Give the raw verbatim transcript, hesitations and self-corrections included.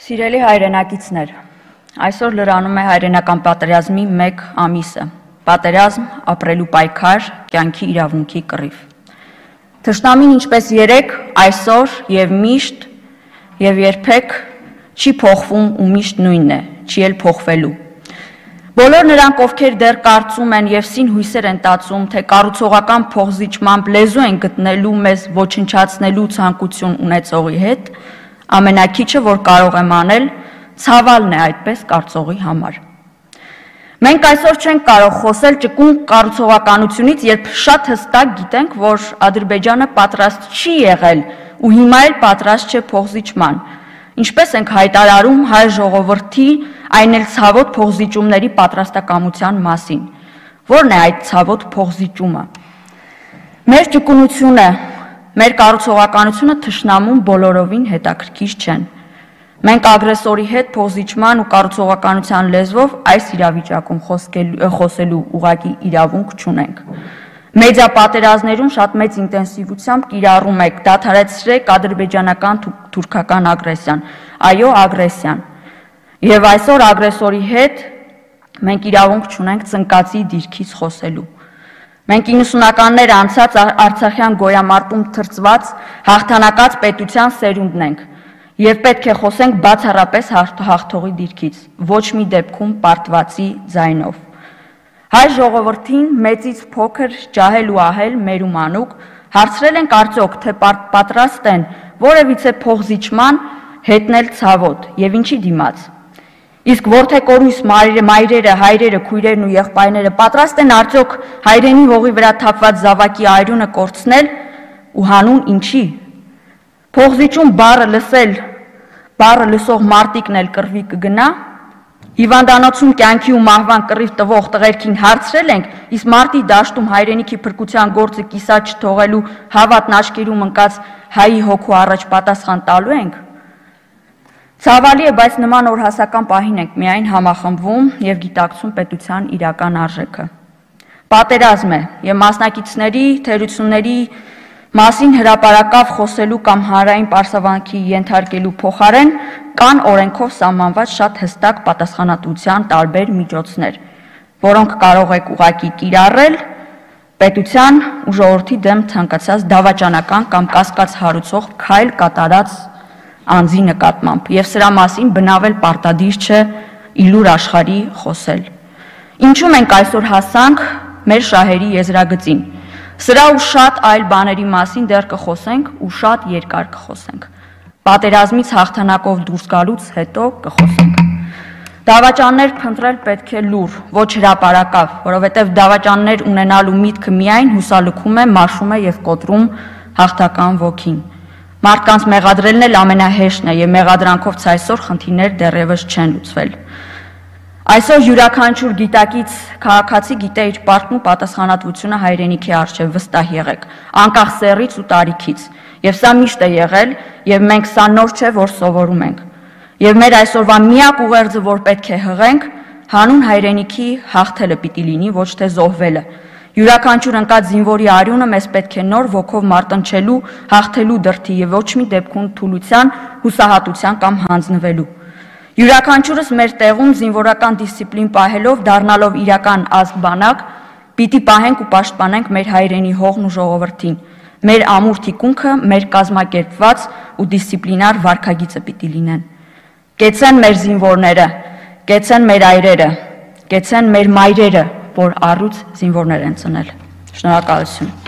Սիրելի հայրենակիցներ, այսօր լրանում է հայրենական պատերազմի մեկ ամիսը, պատերազմ, ապրելու պայքար, կյանքի իրավունքի կռիվ։ Թշնամին ինչպես երեկ, այսօր և միշտ և երբեք չի փոխվում ու միշտ նույնն է, չի էլ փոխվելու։ Բոլոր նրանք, ովքեր դեռ կարծում են և սին հույսեր են տածում, թե կառուցողական փոխզիջմամբ լեզու են գտնելու մեզ ոչնչացնելու ցանկություն ունեցողի հետ, ամենակիչը, որ կարող եմ անել, ցավալն է այդպես կարծողի համար։ Մենք այսօր չենք կարող խոսել ճկուն կառուցողականությունից, երբ շատ հստակ գիտենք, որ Ադրբեջանը պատրաստ չի եղել ու հիմա էլ պատրաստ չէ փոխզիջման, ինչպես ենք հայտարարում հայ ժողովրդի, այն էլ ցավոտ փոխզիջումների պատրաստակամության մասին։ Որն է այդ ցավոտ փոխզիջումը։ Մեր ճկունությունը, մեր կառուցողականությունը թշնամուն բոլորովին հետաքրքիր չեն։ Մենք ագրեսորի հետ փոխզիջման ու կառուցողականության լեզվով այս իրավիճակում խոսելու ուղղակի իրավունք չունենք։ Մեդիա պատերազմներում շատ մեծ ինտենսիվությամբ կիրառում եք, դադարեցրեք ադրբեջանական թուրքական ագրեսիան, այո, ագրեսիան։ Եվ այսօր ագրեսորի հետ մենք իրավունք չունենք ծնկացի դիրքից խոսելու։ Մենք իննսունականներ անցած արցախյան գոյամարտում թրծված հաղթանակած պետության սերունդն ենք և պետք է խոսենք բացառապես հաղթողի դիրքից, ոչ մի դեպքում պարտվածի ձայնով։ Հայ ժողովրդին մեծից փոքր, ջահել ու ահել, մեր ու մանուկ, հարցրել ենք արդյոք, թե պատրաստ են որևիցե փոխզիջման հետնել ցավոտ և ինչի դիմաց։ Իսկ որդեկորույս մայրերը, հայրերը, քույրերն ու եղբայրները պատրաստ են արդյոք հայրենի հողի վրա թափված զավակի այրունը կորցնել ու հանուն ինչի։ Փոխզիջում բառը լսել, բառը լսող մարտիկն էլ կռվի կգնա։ Հիվանդանոցում կյանքի ու մահվան կռիվ տվող տղերքին հարցրել ենք, իսկ մարտի դաշտում հայրենիքի փրկության գործը կիսատ չթողելու հավատն աչքերում ընկած հայի հոգու առաջ պատասխան տալու ենք։ Ցավալի է, բայց նման օրհասական պահին ենք միայն համախմբվում և գիտակցում պետության իրական արժեքը։ Պատերազմ է և մասնակիցների թերությունների մասին հրապարակավ խոսելու կամ հանրային պարսավանքի ենթարկելու փոխարեն կան օրենքով սահմանված շատ հստակ պատասխանատվության տարբեր միջոցներ, որոնք կարող եք ուղղակի կիրառել պետության ու ժողովրդի դեմ ցանկացած դավաճանական կամ կասկած հարուցող քայլ կատարած անձի նկատմամբ և սրա մասին բնավել պարտադիր չէ իլուր աշխարհի խոսել։ Ինչու մենք այսօր հասանք մեր շահերի եզրագծին։ Սրա ու շատ այլ բաների մասին դեռ կխոսենք ու շատ երկար կխոսենք։ Պատերազմից հաղթանակով դուրս գալուց հետո կխոսենք։ Դավաճաններ փնտրել պետք է լուր, ոչ հրապարակավ, որովհետև դավաճաններ ունենալու միտքը միայն հուսալքում է, մաշում է և կոտրում հաղթական ոգին։ Մարդկանց մեղադրելն էլ ամենահեշտն է և մեղադրանքով ցայսօր խնդիրներ դեռևս չեն լուծվել։ Այսօր յուրաքանչյուր գիտակից քաղաքացի գիտե իր պարտքն ու պատասխանատվությունը հայրենիքի առջև, վստահ եղեք, անկախ սեռից ու տարիքից, և սա միշտ է եղել, և մենք սա նոր չէ, որ սովորում ենք։ Եվ մեր այսօրվա միակ ուղերձը, որ պետք է հղենք, հանուն հայրենիքի հաղթելը պիտի լինի, ոչ թե զոհվելը։ Յուրաքանչյուր ընկած զինվորի արյունը մեզ պետք է նոր ոգով մարտնչելու, հաղթելու դրդի և ոչ մի դեպքում թուլության, հուսահատության կամ հանձնվելու։ Յուրաքանչյուրս մեր տեղում զինվորական դիսցիպլին պահելով, դառնալով իրական ազգ բանակ, պիտի պահենք ու պաշտպանենք մեր հայրենի հողն ու ժողովրդին։ Մեր ամուր թիկունքը, մեր կազմակերպված ու դիսցիպլինար վարքագիծը պիտի լինեն։ Կեցցեն մեր զինվորները, կեցցեն մեր այրերը, կեցցեն մեր մայրերը, որ առյուծ զինվորներ են ծնել։ Շնորհակալություն։